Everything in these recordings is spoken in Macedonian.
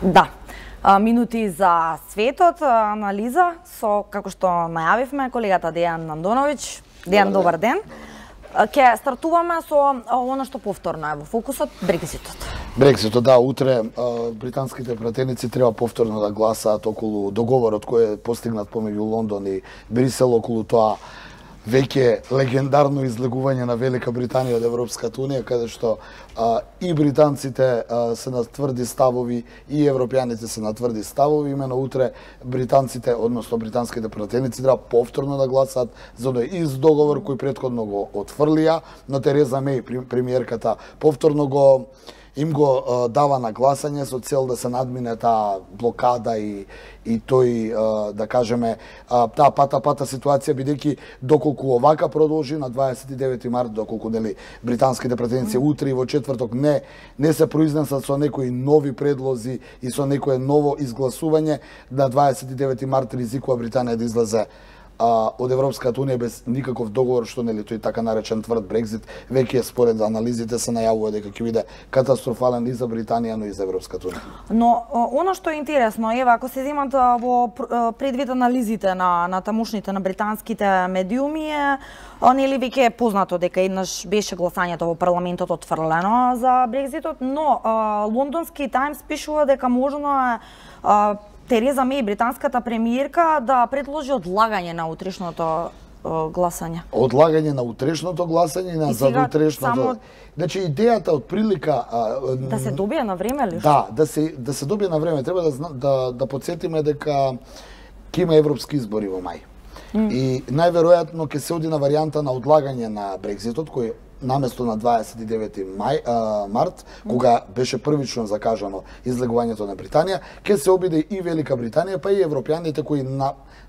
Да. Минути за светот, анализа со, како што најавивме, колегата Дејан Андоновиќ. Дејан, добар ден. Ќе стартуваме со оно што повторно е во фокусот, Брекситот. Брекситот, да, утре британските пратеници треба повторно да гласаат околу договорот кој е постигнат помеѓу Лондон и Брисел, околу тоа веќе легендарно излегување на Велика Британија од Европската Унија, каде што и британците се на тврди ставови и европјаните се на тврди ставови. Имено утре британците, односно британските пратеници, треба повторно да гласаат за оној ист договор кој претходно го отфрлија, но Тереза Меј, премиерката, повторно им го дава на гласање со цел да се надмине таа блокада и тој, да кажеме, таа пата ситуација, бидејќи доколку овака продолжи на 29 март, доколку нели британските пратеници утре и во четврток не се произнесат со некои нови предлози и со некое ново изгласување, на 29 март ризикува Британија да излезе од Европската Унија без никаков договор, што нели тој така наречен тврд Брекзит веќе според анализите се најавува дека ќе биде катастрофален и за Британија, но и за Европската Унија. Но она што е интересно, ева, ако се земат во предвид анализите на тамошните, на британските медиуми, нели веќе е познато дека еднаш беше гласањето во парламентот отфрлено за Брекзитот, но лондонски Таймс пишува дека можно е Тереза Меј, британската премиерка, да предложи одлагање на утрешното гласање. Одлагање на утрешното гласање и на задутрешното. Значи идејата од прилика да се добие на време ли? Да, да се добие на време. Треба да потсетиме дека ќе има европски избори во мај. И најверојатно ќе се оди на варијанта на одлагање на Брекзитот, кој наместо на 29 март, кога беше првично закажано излегувањето на Британија, ќе се обиде и Велика Британија, па и европјаните кои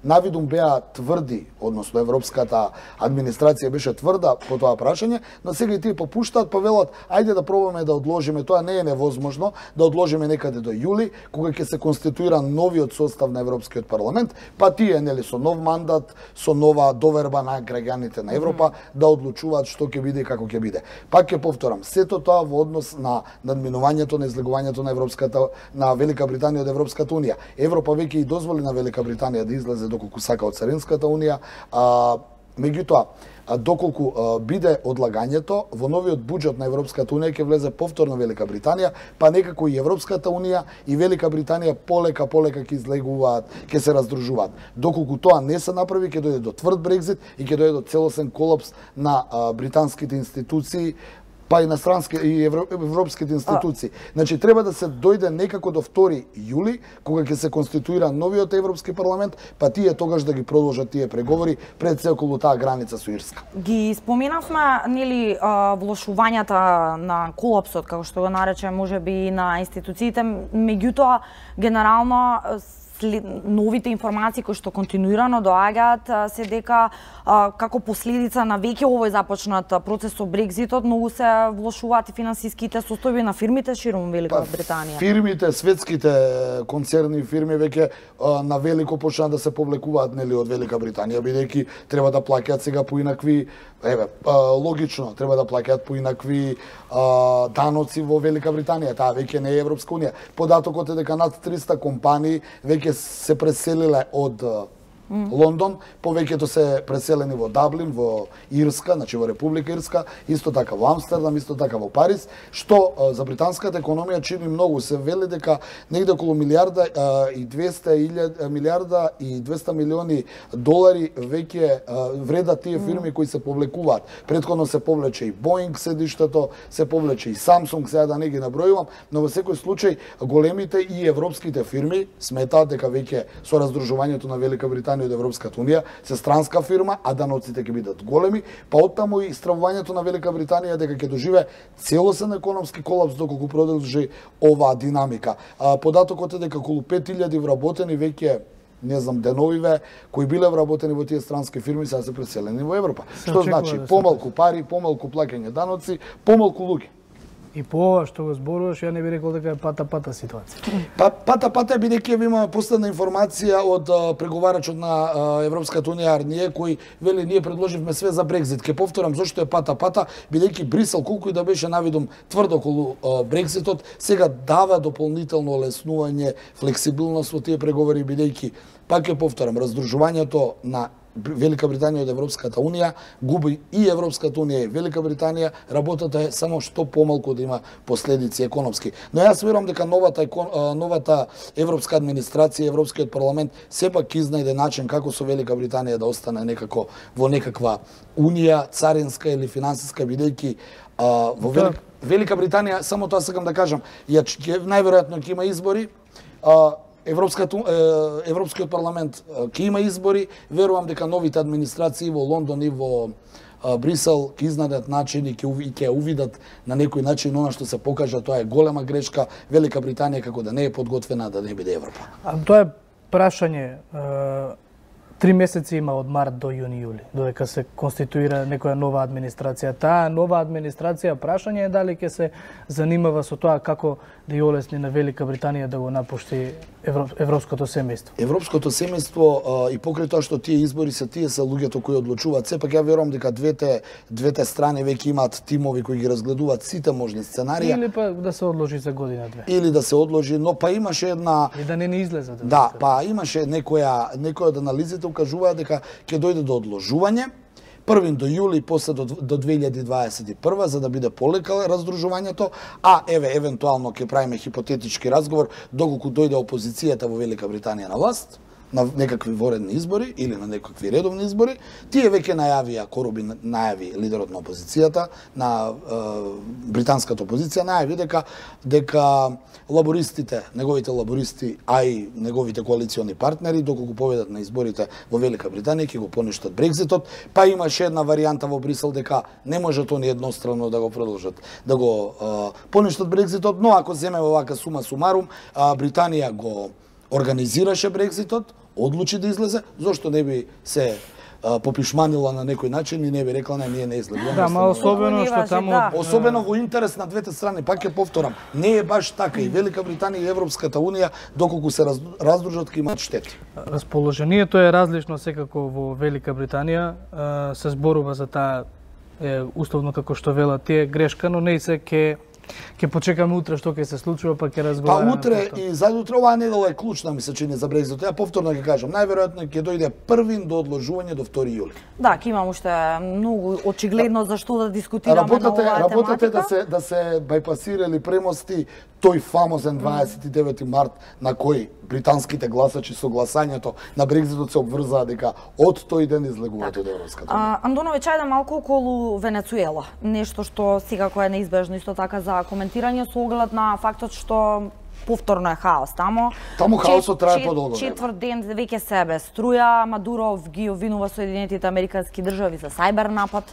навидум беа тврди, односно европската администрација беше тврда по тоа прашање, но сега и тие попуштаат, па велат, ајде да пробаме да одложиме, тоа не е невозможно, да одложиме некаде до јули, кога ќе се конституира новиот состав на Европскиот парламент, па тие нели со нов мандат, со нова доверба на граѓаните на Европа да одлучуваат што ќе биде и како ќе биде. Пак ќе повторам, сето тоа во однос на надминувањето на излегувањето на Велика Британија од Европската Унија. Европа веќе и дозволи на Велика Британија да излезе доколку сака од Царинската унија, меѓутоа доколку биде одлагањето, во новиот буџет на Европската Унија ќе влезе повторно Велика Британија, па некако и Европската Унија и Велика Британија полека ќе излегуваат, ќе се раздружуваат. Доколку тоа не се направи, ќе дојде до тврд Брекзит и ќе дојде до целосен колапс на британските институции, па и на странски и европските институции. Значи треба да се дојде некако до 2 јули, кога ќе се конституира новиот Европски парламент, па тие тогаш да ги продолжат тие преговори пред се околу таа граница со Ирска. Ги споменавме нели влошувањата на колапсот, како што го нарече можеби на институциите, меѓутоа генерално новите информации кои што континуирано доаѓаат се дека како последица на веќе овој започнат процес со Брекзитот, многу се влошуваат и финансиските состојби на фирмите ширум Велика Британија. Фирмите, светските концерни фирми веќе на велико почнаа да се повлекуваат нели од Велика Британија, бидејќи треба да плаќаат сега поинакви, логично, треба да плаќаат поинакви даноци во Велика Британија, таа веќе не е Европска Унија. Податокот е дека над 300 компании веќе се преселиле од Лондон, повеќето се преселени во Даблин, во Ирска, значи во Република Ирска, исто така во Амстердам, исто така во Париз, што за британската економија чини многу. Се вели дека негде околу милиарда и 200 милиони долари веќе вредат тие фирми кои се повлекуваат. Претходно се повлече и Боинг седиштето, се повлече и Самсунг, сега да не ги набројувам, но во секој случај големите и европските фирми сметаат дека веќе со раздружувањето на Велика Британија од Европската Унија се странска фирма, а даноците ќе бидат големи, па оттаму и стравувањето на Велика Британија дека ќе доживее целосен економски колапс доколку продолжи оваа динамика. Податокот е дека околу 5000 вработени веќе не знам деновиве кои биле вработени во тие странски фирми сега се преселени во Европа. Што значи помалку пари, помалку плаќање даноци, помалку луѓе. И по ова што го зборуваш, ја не би рекол дека е пата ситуација. Пата бидејќи имаме последна информација од преговарачот на Европската унија Арние, кој вели ние предложивме све за Брекзит. Ке повторам зошто е пата, бидејќи Брисел колку и да беше навидум тврдо околу Брекситот, сега дава дополнително олеснување, флексибилност во тие преговори, бидејќи пак ќе повторам, раздружувањето на Велика Британија од Европската унија губи и Европската унија и Велика Британија, работата е само што помалку да има последици економски. Но јас верувам дека новата европска администрација, Европскиот парламент сепак ќе изнајде начин како со Велика Британија да остане некако во некаква унија царинска или финансиска, бидејќи во Велика Британија, само тоа сакам да кажам, најверојатно ќе има избори, Европскиот парламент ќе има избори, верувам дека новите администрации во Лондон и во Брисел ќе изнајдат начин и ќе увидат на некој начин она што се покажа, тоа е голема грешка, Велика Британија како да не е подготвена да не биде Европа. Тоа е прашање. 3 месеци има од март до јуни-јули, додека се конституира некоја нова администрација. Таа нова администрација, прашање е дали ќе се занимава со тоа како да ја олесни на Велика Британија да го напушти европското семејство. Европското семејство и покрај тоа што тие избори се луѓето кои одлучуваат, сепак ја верувам дека двете страни веќе имаат тимови кои ги разгледуваат сите можни сценарија. Или па да се одложи за година-две. Или да се одложи, но па имаше една и да не излезе. Да, па имаше некоја од анализите укажуваат дека ќе дојде до одложување 1 до јули, после до 2021, за да биде полека раздружувањето, а евентуално ќе правиме хипотетички разговор доколку дојде опозицијата во Велика Британија на власт, на некакви воредни избори или на некакви редовни избори. Тие веќе најавија, Корубин најави, лидерот на опозицијата, на британската опозиција, најави дека лабористите, неговите лабористи, а и неговите коалициони партнери, доколку победат на изборите во Велика Британија, ќе го поништат Брекзитот. Па имаше една варијанта во Брисел дека не можат они едностранно да го продолжат, да го поништат Брекзитот, но ако земеме вака сума сумарум, Британија го организираше Брекзитот, одлучи да излезе, зошто не би се попишманила на некој начин и не би рекла ние не излегуваме. Да, ма особено што таму особено во интерес на двете страни, пак ќе повторам, не е баш така и Велика Британија и Европската унија доколку се раздружат ќе имаат штети. Расположението е различно секако во Велика Британија, се зборува за таа условно како што велат тие грешка, но не се ќе почекаме утре што ќе се случува, па ќе разговараме. Па утре и задутре оваа недела е клучна, ми се чини, за Брекзит. Ја повторно ќе кажам, најверојатно ќе дојде првин до одложување до 2 јули. Да, ќе имам уште многу очигледно за што да дискутираме на оваа тематика. Работата да се бајпасира или премости тој фамозен 29 март на кој британските гласачи со гласањето на Брекзитот се обврзаа дека од тој ден излегуваат од Европската унија. Андоновиќ, ајде малку околу Венецуела. Нешто што секако е неизбежно исто така за коментирање со оглед на фактот што повторно е хаос тамо. Таму хаосот трае подолго. Четврт ден веќе се без струја, Мадуро ги обвинува Соединетите Американски држави за сајбер напад.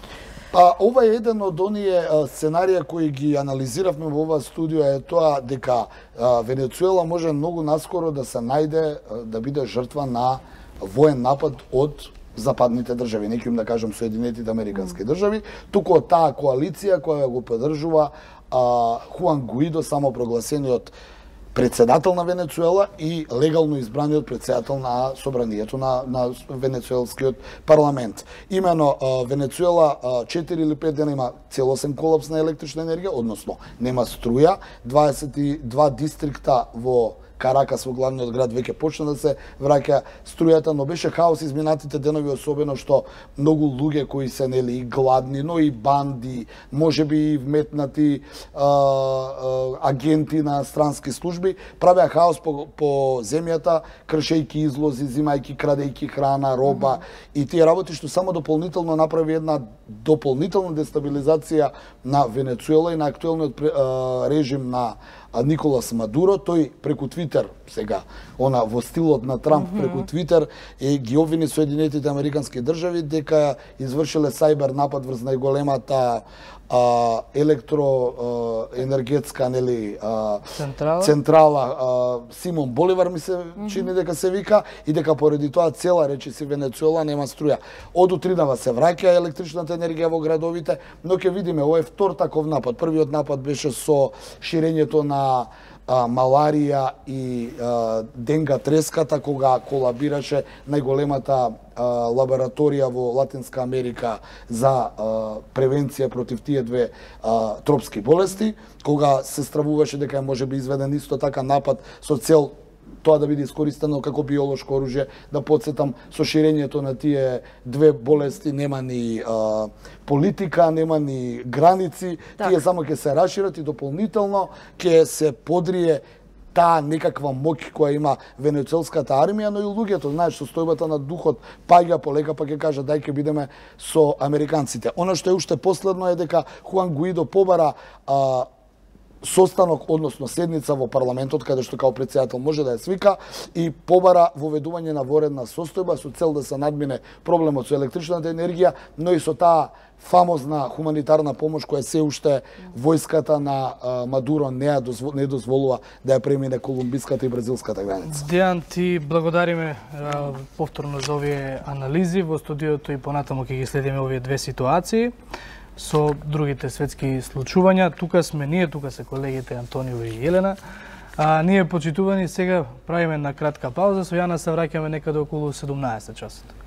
Ова е еден од оние сценарија кои ги анализиравме во оваа студија, е тоа дека Венецуела може многу наскоро да се најде, да биде жртва на воен напад од западните држави, не ќе да кажам Соединетите Американски држави, туку од таа коалиција која го поддржува Хуан Гуидо, самопрогласениот председател на Венецуела и легално избраниот председател на собранието на венецуелскиот парламент. Имено Венецуела 4 или 5 дена има целосен колапс на електрична енергија, односно нема струја, 22 дистрикта во Каракас во главниот град веќе почна да се враќа струјата, но беше хаос изминатите денови, особено што многу луѓе кои се нели и гладни, но и банди, можеби и вметнати агенти на странски служби, правеа хаос по земјата, кршејки излози, зимајки, крадејки храна, роба и тие работи што само дополнително направи една дополнителна дестабилизација на Венецуела и на актуелниот режим на Николас Мадуро. Тој преку Твитер, сега, во стилот на Трамп, преку Твитер ги обвини Соединетите Американски држави дека извршиле сајбер напад врз најголемата електроенергетска нели централа Симон Боливар ми се чини дека се вика и дека поради тоа цела речиси Венецуела нема струја. Од утринава се враќа електричната енергија во градовите, но ќе видиме овој втор таков напад. Првиот напад беше со ширењето на маларија и денга треската, кога колабираше најголемата лабораторија во Латинска Америка за превенција против тие две тропски болести, кога се стравуваше дека може би изведен исто така напад со цел тоа да биде искористено како биолошко оружје. Да подсетам, со ширењето на тие две болести нема ни политика, нема ни граници, тие само ќе се расшират и дополнително ќе се подрие таа некаква моќ која има венецуелската армија, но и луѓето, знаеш, состојбата на духот паѓа полека, па ќе кажа дај ќе бидеме со американците. Она што е уште последно е дека Хуан Гуидо побара состанок, односно седница во парламентот, каде што као претседател може да ја свика и побара воведување на воредна состојба со цел да се надмине проблемот со електричната енергија, но и со таа фамозна хуманитарна помош која се уште војската на Мадуро не дозволува да ја премине колумбиската и бразилската граница. Дејан, ти благодариме повторно за овие анализи во студиото и понатаму ќе ги следиме овие две ситуации со другите светски случувања. Тука сме ние, тука се колегите Антонио и Елена. Ние, почитувани, сега правиме на кратка пауза, со Јана се враќаме некаде околу 17 часот.